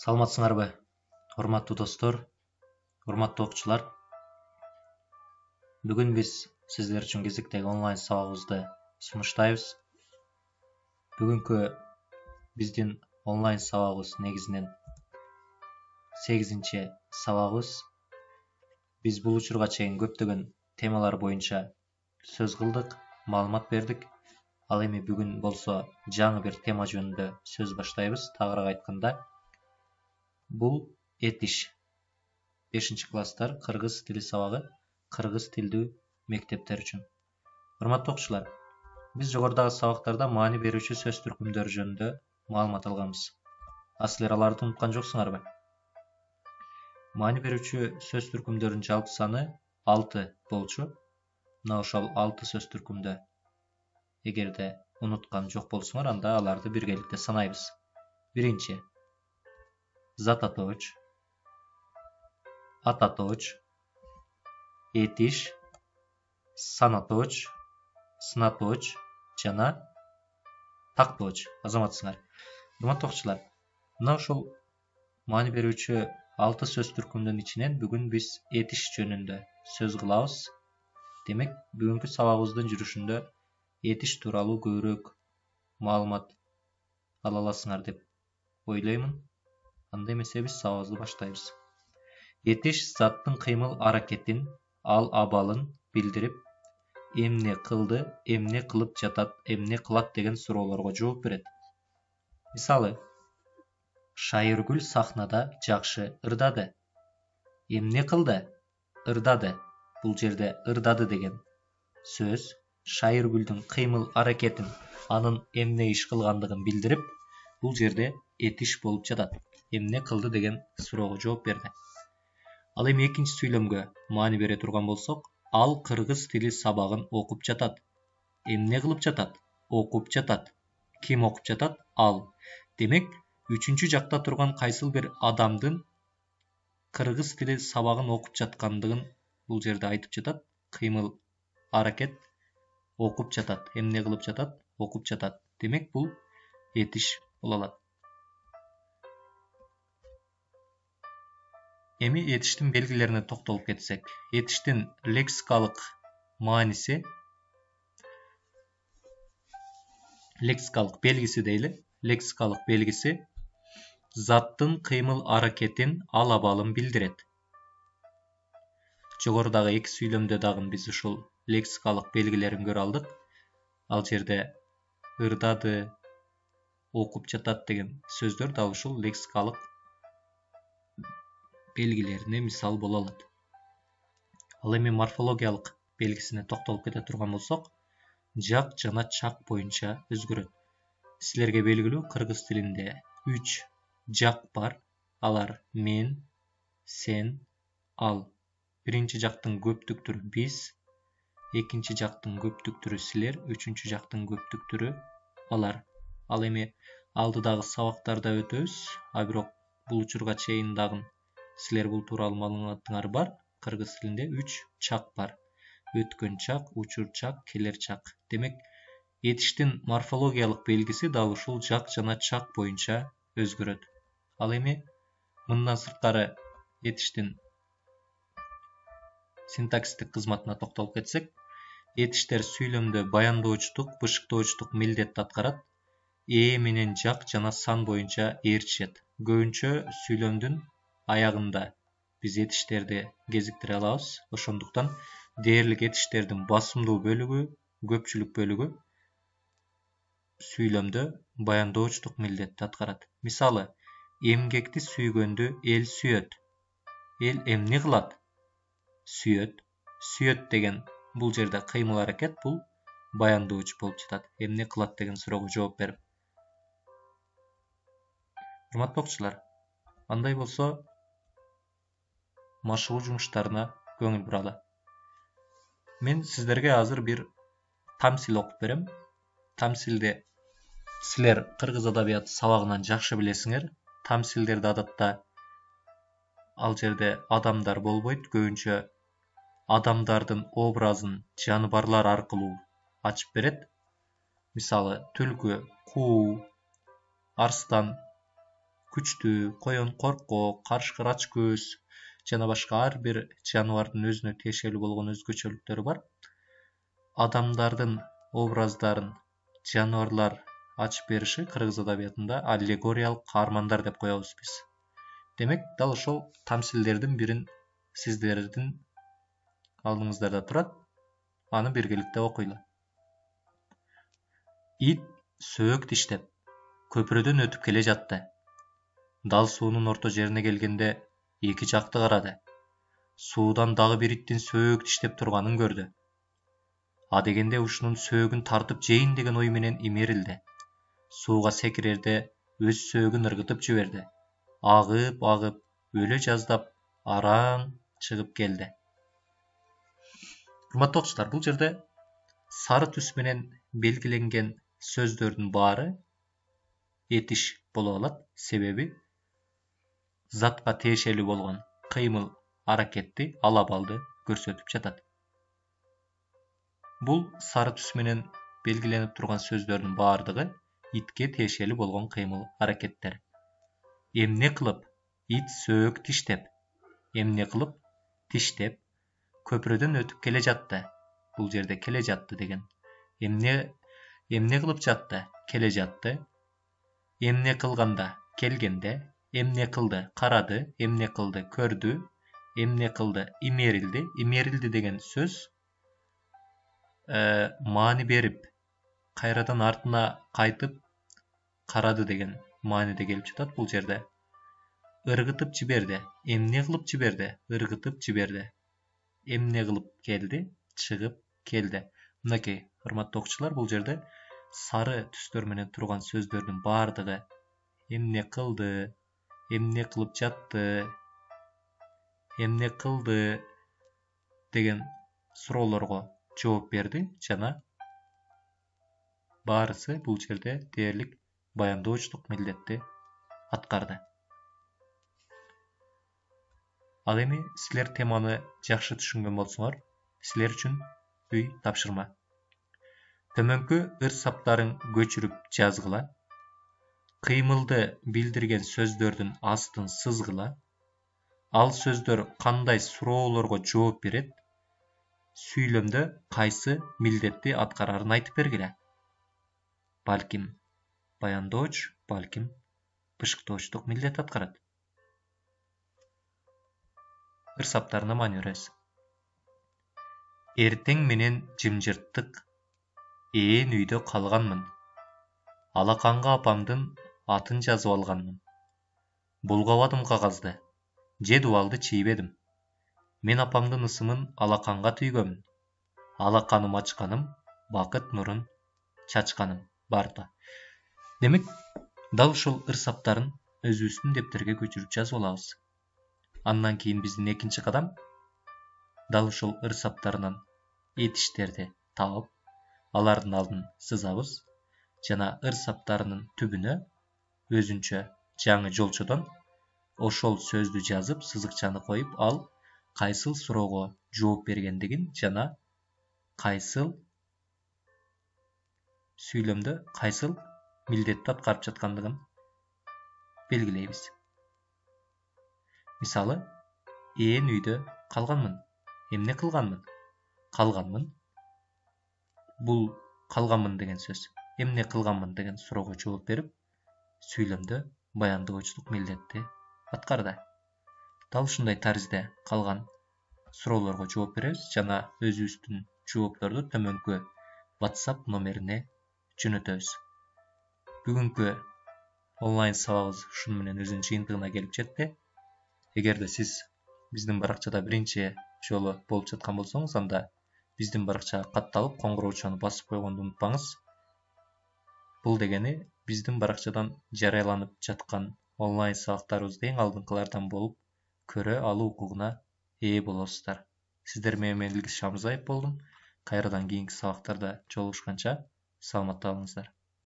Саламатсыңарбы, урматтуу достор, урматтуу окуучулар. Бүгүн биз сиздер үчүн кезектеги онлайн сабагыбызды сунуштайбыз. Бүгүнкү биздин онлайн сабагыбыз негизинен 8-чи сабагыбыз. Биз бул учурга чейин көптөгөн темалар боюнча сөз кылдык, маалымат бердик. Ал эми бүгүн болсо жаңы бир тема жөнүндө сөз баштайбыз. Тагыраак айтканда, бул этиш 5-класстар кыргыз тили сабагы, кыргыз тилдүү мектептер үчүн. Урматтуу окуучулар, биз жогорудагы сабактарда маани берүүчү сөз түркүмдөрү жөнүндө маалымат алганбыз. Силер аларды унуткан жоксуңарбы? Маани берүүчү сөз түркүмдөрүнүн жалпы саны 6 болчу. Мына ошол 6 сөз түркүмдө эгерде унуткан жок болсоңор, анда аларды биргеликте санайбыз. Биринчи зататоч, ататоч, этиш, санаточ, сынаточ жана такточ. Азаматсыңар. Урматтуу окуучулар, мына ошол маани берүүчү 6 сөз түркүмдүн ичинен бүгүн биз этиш жөнүндө сөз кылабыз. Демек, бүгүнкү сабагыбыздын жүрүшүндө этиш тууралуу көбүрөөк маалымат ала аласыңар деп ойлоймун. Анда эмесе биз сабагыбызды баштайбыз. Этиш заттын кыймыл-аракетин, ал-абалын билдирип, эмне кылды, эмне кылып жатат, эмне кылат деген суроолорго жооп берет. Мисалы, Шайыргүл сахнада жакшы ырдады. Эмне кылды? Ырдады. Бул жерде ырдады деген сөз Шайыргүлдүн кыймыл-аракетин, анын эмне иш кылгандыгын билдирип, бул жерде этиш болуп жатат. Эмне кылды деген суроого жооп берди. Ал эми экинчи сүйлөмгө маани бере турган болсок, ал кыргыз тили сабагын окуп жатат. Эмне кылып жатат? Окуп жатат. Ким окуп жатат? Ал. Демек, үчүнчү жакта турган кайсыл бир адамдын кыргыз тили сабагын окуп жаткандыгын бул жерде айтып жатат. Кыймыл-аракет окуп жатат. Эмне кылып жатат? Окуп жатат. Демек, бул этиш боло алат. Эми этиштин белгилерине токтолуп кетсек, этиштин лексикалык мааниси, лексикалык белгиси дейли. Лексикалык белгиси заттын кыймыл-аракетин, ал-абалын билдирет. Жогорудагы эки сүйлөмдө дагы биз ушул лексикалык белгилерин көрө алдык. Ал жерде ырдады, окуп жатат деген сөздөр дал ушул лексикалык белгилерине мисал боло алат. Ал эми морфологиялык белгисине токтолуп кете турган болсок, жак жана чак боюнча өзгөрөт. Силерге белгилүү, кыргыз тилинде 3 жак бар. Алар мен, сен, ал. Биринчи жактын көптүк түрү биз, экинчи жактын көптүк түрү силер, үчүнчү жактын көптүк түрү алар. Ал эми алдыдагы сабактарда өтөбүз, а бирок бул учурга чейин дагы силер бул тууралуу маалыматыңар бар. Кыргыз тилинде 3 чак бар. Өткөн чак, учур чак, келер чак. Демек, этиштин морфологиялык белгиси дал ушул жак жана чак боюнча өзгөрөт. Ал эми мындан сырткары этиштин синтаксистик кызматына токтолуп кетсек, этиштер сүйлөмдө баяндоочтук, бышыктоочтук милдетти аткарат. Менен жак жана сан боюнча ээрчишет. Көбүнчө сүйлөмдүн аягында биз этиштерди кезиктире алабыз. Ошондуктан дээрлик этиштердин басымдуу бөлүгү, көпчүлүк бөлүгү сүйлөмдө баяндоочтук милдетти аткарат. Мисалы, эмгекти сүйгөндү эл сүйөт. Эл эмне кылат? Сүйөт. Сүйөт деген бул жерде кыймыл-аракет, бул баяндоочу болуп жатат. Эмне кылат деген суроого жооп берип. Урматтуу окуучулар, андай болсо машыгуу жумуштарына көңүл буралы. Мен сиздерге азыр бир тамсил окуп берем. Тамсилди силер кыргыз адабияты сабагынан жакшы билесиңер. Тамсилдерди адатта ал жерде адамдар болбойт, көбүнчө адамдардын образын жаныбарлар аркылуу ачып берет. Мисалы, түлкү, куу, арстан, күчтүү, коен коркок, карышкыр ачкөз жана башка ар бир жаныбардын өзүнө тиешелүү болгон өзгөчөлүктөрү бар. Адамдардын образдарын жаныбарлар ачып бериши кыргыз адабиятында аллегориялык каармандар деп коебуз биз. Демек, дал ошол тамсилдердин бирин сиздердин алдыңыздарда турат. Аны биргеликте окуйлу. Ит сөөк диштеп көпүрөдөн өтүп келе жатты. Дал суунун орто жерине келгенде эки жакты карады. Суудан дагы бир иттин сөөк диштеп турганын көрдү. А дегенде ушунун сөөгүн тартып жейин деген ой менен имерилди. Сууга секирерде өз сөөгүн ыргытып жиберди. Агып, өлө жаздап араң чыгып келди. Урматтуу окуучулар, бул жерде сары түс менен белгиленген сөздөрдүн баары этиш боло алат. Себеби затка тиешелүү болгон кыймыл аракетти, ала-балды көрсөтүп жатат. Бул сары түс менен белгиленип турган сөздөрдүн баардыгы итке тиешелүү болгон кыймыл аракеттер. Эмне кылып ит сөөк тиштеп, эмне кылып тиштеп көпүрөдөн өтүп келе жатты. Бул жерде келе жатты деген. Эмне кылып жатты? Келе жатты. Эмне кылганда? Келгенде. Эмне кылды? Карады. Эмне кылды? Көрдү. Эмне кылды? Имерилди. Имерилди деген сөз маани берип, кайрадан артына кайтып карады деген мааниде келип жатат. Бул жерде ыргытып жиберди. Эмне кылып жиберди? Ыргытып жиберди. Эмне кылып келди? Чыгып келди. Мынакей, урматтуу окуучулар, бул жерде сары түстөр менен турган сөздөрдүн баардыгы эмне кылды, эмне кылып жатты, эмне кылды деген суроолорго жооп берди жана баарысы бул жерде дээрлик баяндоочулук милдетти аткарды. Ал эми силер теманы жакшы түшүнгөн болсоңор, силер үчүн үй тапшырма. Төмөнкү ыр саптарын көчүрүп жазгыла. Кыймылды билдирген сөздөрдүн астын сызгыла. Ал сөздөр кандай суроолорго жооп берет? Сүйлөмдө кайсы милдетти аткарарын айтып бергиле. Балким баяндооч, балким бышыктоочтук милдет аткарат. Ыр саптарына маани беребиз. Эртең менен жымжырттык ээн үйдө калганмын. Алаканга апамдын атын жазып алганмын. Булгабадым кагазды, же дубалды чийбедим. Мен апамдын ысымын алаканга түйгөмүн. Алаканым ачканым, бакыт нурун чачканым барда. Демек, дал ушул ыр саптарын өзүбүздүн дептерге көчүрүп жазып алабыз. Андан кийин биздин экинчи кадам дал ушул ыр саптарынан этиштерди таап, алардын алдын сызабыз жана ыр саптарынын түбүнө өзүнчө жаңы жолчодон ошол сөздү жазып, сызыкчаны коюп, ал кайсыл суроого жооп бергендигин жана кайсыл сүйлөмдө кайсыл милдетти аткарып жаткандыгын белгилейбиз. Мисалы, ээн үйдө калганмын. Эмне кылганмын? Калганмын. Бул калганмын деген сөз эмне кылганмын деген суроого жооп берип, сүйлөмдө баяндоочулук милдетти аткарды. Дал ушундай таризде калган суроолорго жооп беребиз жана өзүбүздүн жоопторду төмөнкү WhatsApp номерине жөнөтөбүз. Бүгүнкү онлайн сабагыбыз ушуну менен өзүнүн жыйынтыгына келип жетти. Эгерде сиз биздин баракчада биринчи жолу болуп жаткан болсоңуз, анда биздин баракчага катталып, коңгуроочуну басып койгонду унутпаңыз. Бул дегени биздин баракчадан жарыяланып жаткан онлайн сабактарыбызды эң алдыңкылардан болуп көрө алуу укугуна ээ болосуздар. Сиздер менен мен Илгиз Шамырзаев болдум. Кайрадан кийинки сабактарда жолугушканча саламатта болуңуздар.